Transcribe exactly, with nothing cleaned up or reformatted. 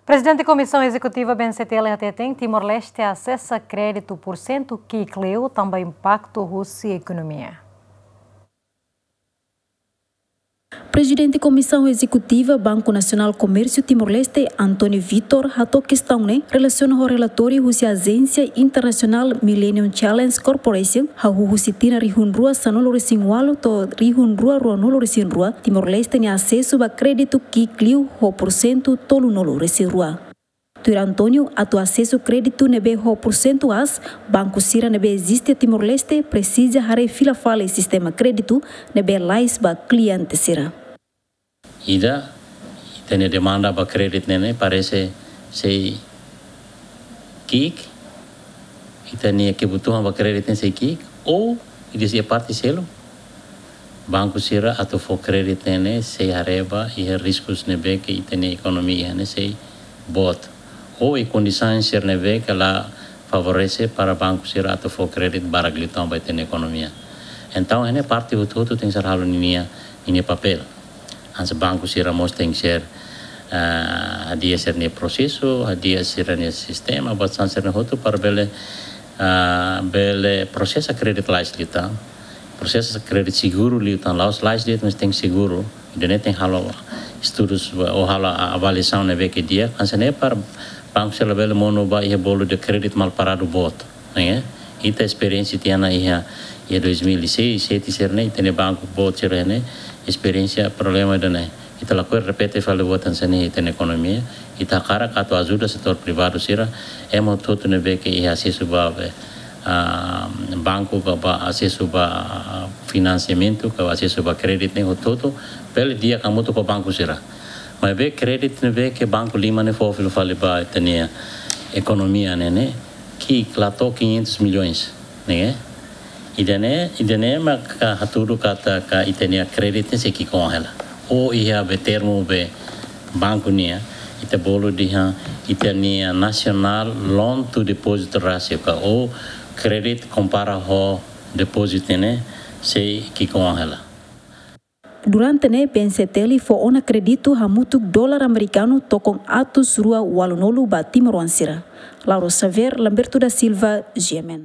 Prezidente Komisaun Ezekutiva B N C T L hateten Timor-Leste asesa kréditu pursentu ki'ik liu tanba impaktu husi ekonomia. Prezidente Komisaun Ezekutiva Banku Nasionál Komérsiu Timor-Leste, António Vitor, hato'o kestaun ne'e relasiona ho relatóriu husi ajénsia internasionál Millennium Challenge Corporation, hahú husi tinan rihun rua sanulu-resin-ualu to'o rihun rua ruanulu-resin-rua, Timor-Leste nia asesu ba kréditu ki'ik liu ho pursentu tolunulu-resin-rua. Tuir António, atu asesu kréditu ne'ebé ho pursentu aas, banku sira ne'ebé eziste Timor-Leste presiza haree fila fali sistema kréditu ne'ebé lalais ba kliente sira. Ida, ita-nia demanda ba kréditu ne'e ne'e parese sei ki'ik, ita-nia kebutuhan ba kréditu ne'e sei ki'ik, ou ida sei parte seluk, banku sira atu fó kréditu ne'e ne'e sei haree ba iha riskus ne'ebé ke ita-nia ekonomia iha ne'e sei boot. Ou iha kondisaun sira ne'ebé ke la favorese para banku sira atu fó kréditu barak liután ba ita-nia ekonomia. Entaun, iha ne'e parte hotu-hotu tenke ser halo ninia, ninia papél. Hanesan banku sira mós tenke ser, ah, hadi'a sira-nia prosesu, hadi'a sira-nia sistema, buat sira-ne'e hotu para bele, ah, bele prosesa kréditu lalais liután. Prosesa kréditu seguru liután, la'ós lalais de'it, mas tenke seguru. Ida-ne'e tenke halo estudus ou halo avaliasaun ne'ebé ke di'ak, hanesan ne'e para banku sira labele monu ba iha bolu de kréditu mal paradu boot, ne'e? Ita esperiénsia tiha ona iha, iha dois mil e seis, sete sira-ne'e, ita-nia banku boot sira ne'e, esperiénsia problema ida-ne'e. Ita lakohi repete fali buat hanesan ne'e iha ita-nia ekonomia, ita hakarak atu ajuda setór privadu sira, ema hotu-hotu ne'ebé ke iha asesu ba, ah, banku ka ba asesu ba, ah, finansiamentu, ka asesu ba kréditu ne'e hotu-hotu, bele di'ak hamutuk ho banku sira. Maibé kréditu ne'ebé ke banku lima ne'e fó fila fali ba ita-nia ekonomia ne'e ne'e, ki'ik la to'o quinhentos milhões, ne'e? Ida-ne'e, ida-ne'e mak hatudu katak ita-nia kréditu ne'e sei ki'ik oan hela. Ou iha be termu be banku nian, ita bolu dehan ita-nia national loan to deposit ratio ka ou kréditu kompara ho depózitu ne'e sei ki'ik oan hela. Durante ne'e B N C T L fó ona kréditu hamutuk dolar amerikanu tokon atus rua ualunulu ba timoroan sira. Laura Xavier, Lamberto da Silva, G M N.